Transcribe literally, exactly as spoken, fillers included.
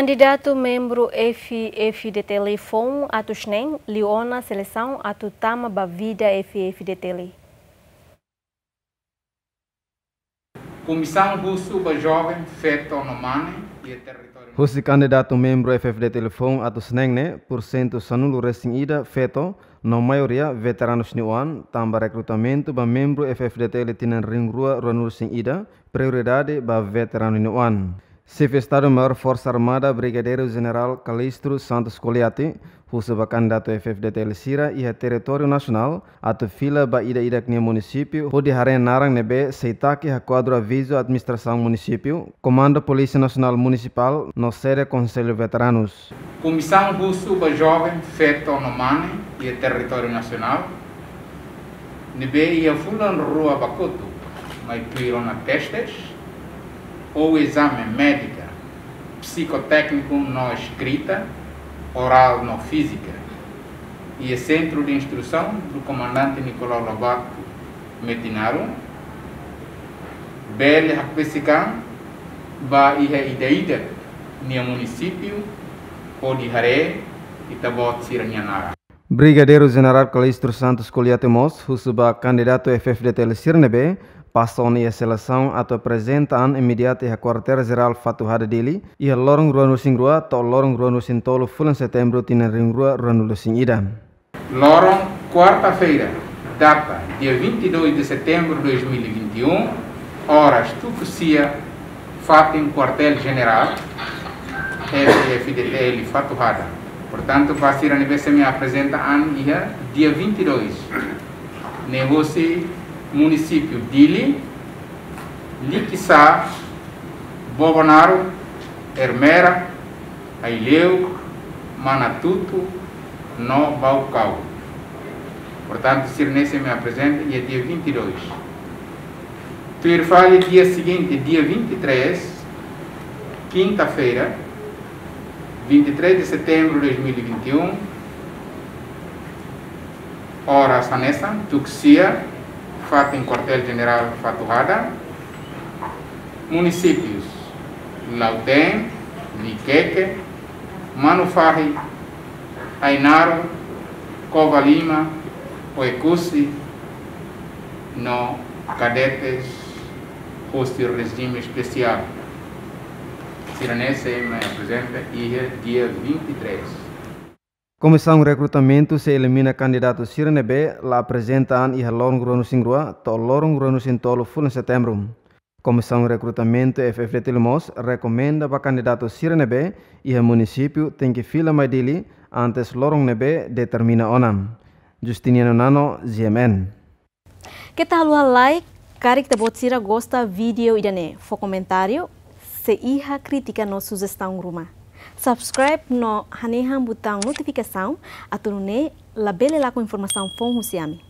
Kandidatu membru F-FDTL foun atus neen liu ona selesaun atu tama ba vida F-FDTL. Komisaun husu ba joven, feto no mane iha territóriu. Husi kandidatu membru F-FDTL foun atus neen ne'e, pursentu sanulu resin ida feto, no maioria veteranus nia oan, tanba rekrutamentu ba membru F-FDTL tinan rihun rua ruanulu resin ida, prioridade ba veteranu nia oan. Xefe Estadu-Maiór Forsa Armada Brigadeiru Jenerál Calixto Santos Coliate husu ba kandidatu F-FDTL sira iha territóriu nasionál atu fila ba ida-idak nia munisípiu hodi haree naran ne'ebé sei taki iha kuadru avizu administrasaun munisípiu, Komandu Polísia Nasionál Munisipál no sede Konsellu Veteranus. Komisaun husu ba joven, feto no mane iha territóriu nasionál ne'ebé iha fulan rua ba kotuk mai tuir ona testes ou ezame médika, psikotékniku no eskrita, orál no fízika iha Centro de Instrução do Comandante Nicolau Lobato Metinaro, bele hakbesik an ba iha ida-idak nia munisípiu hodi haree ita-boot sira-nia naran. Brigadeiru Jenerál Calixto Santos Coliate mós husu ba kandidatu F-FDTL sira ne'ebé pasa ona iha selesaun atu aprezenta an imediatu iha Kuartél Jerál Fatuhada, Dili, iha loron ruanulu resin rua to'o loron ruanulu resin tolu fulan Setembru tinan rihun rua ruanulu resin ida. Loron kuarta-feira, data dia vinte e dois de setembro de dois mil e vinte e um, oras tuku sia, fatin Kuartél Jenerál F-FDTL Fatuhada. Portantu, ba sira ne'ebé sei mai aprezenta an iha dia vinte e dois ne'e husi munisípiu Dili, Likisá, Bobonaro, Ermera, Aileu, Manatuto no Baucau. Portantu, sira ne'e sei mai aprezenta iha dia vinte e dois. Tuir fali dia seguinte, dia vinte e três, quinta-feira, vinte e três de setembro de dois mil e vinte e um, oras hanesan tuku sia, fatin Kuartél Jenerál Fatuhada, munisípius Lautém, Viqueque, Manufahi, Ainaro, Covalima, Oecusse no kadetes husi rejime espesiál. Sira ne'e sei mai aprezenta iha dia vinte e três. Komisaun rekrutamentu sei elimina kandidatu sira ne'ebé la aprezenta an iha loron ruanulu resin rua to'o loron ruanulu resin tolu fulan Setembru. Komisaun rekrutamentu F-FDTL mós rekomenda ba kandidatu sira ne'ebé iha munisípiu tenke fila mai Dili antes loron ne'ebé determina ona. Justiniano Nano, G M N. Keta haluha like, karik ita-boot sira gosta vídeo ida-ne'e, fó komentáriu, se iha krítika no sujestaun ruma. Subscribe no hanehan butaun notifikasaun, atu nune'e labele lakon informasaun foun husi ami.